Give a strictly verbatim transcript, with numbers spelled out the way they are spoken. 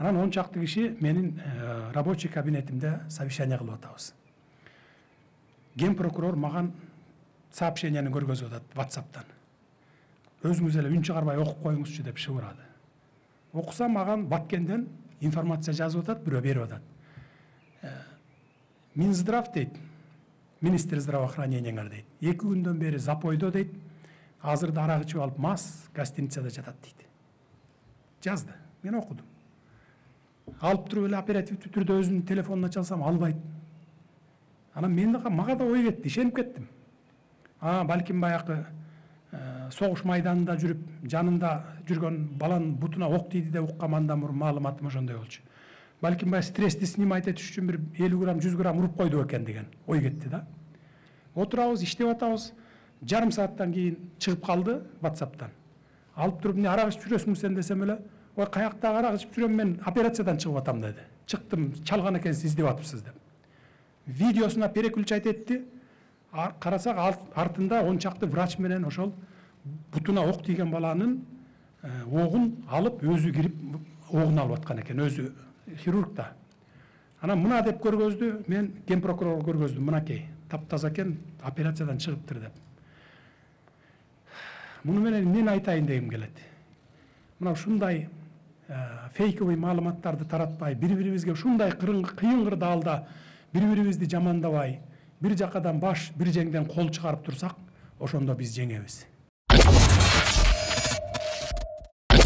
Анан он чакты киши менин рабочий кабинетимде совещание кылып атабыз. Ген прокурор маган сообщенияны көргөзүп атат WhatsApp'тан. Өзүңүз эле үн чыгарбай окуп коюңузчу деп шыбырады. Окуса маган Баткенден информация жазып атат, бирөө берип атат. Минздрав дейт, министр здравоохранениеңер дейт. Эки күндөн бери запойдо дейт. Азырда арак ичип алып мас гостиницада жатат дейт. Жазды. Мен окудум. Алып туруп эле оперативдүү түрдө өзүнүн телефонуна чалсам албайт. Анан мен да мага да ой кетти, ишенип кеттим. А, балким баягы согуш майданында жүрүп, жанында жүргөн баланын бутуна ок тийди деп уккам, андан мурун маалыматым ошондой болчу. Балким баягы стрессти снимать этиш үчүн бир элүү грамм, жүз грамм уруп койду экен деген ой кетти да. Отурабыз, иштеп атабыз. Жарым сааттан кийин чыгып калды WhatsApp'тан. Алып туруп, "Не арак ичип жүрөсүң сен?" десем эле, "Ой, каяктагы арак ичип жүрөм, мен операциядан чыгып атам" деди. "Чыктым, чалган экенсиз, издеп атыпсыз" деп. Видеосуна переключать этти. Карасак артында он чакты врач менен ошол бутуна ок тийген баланын огун алып өзү кирип огун алып аткан экен, өзү хирург да. Анан мына деп көргөздү, мен ген прокурорго көргөздүм, мынакей, таптаза экен, операциядан чыгыптыр деп. Муну менен эмнени айтайын дегим келет. Мына ушундай фейковый маалыматтарды таратпай, бири-бирибизге ушундай кыйын кырдаалда бири-бирибизди жамандабай, бир жакадан баш, бир жеңден кол чыгарып турсак, ошондо биз жеңебиз.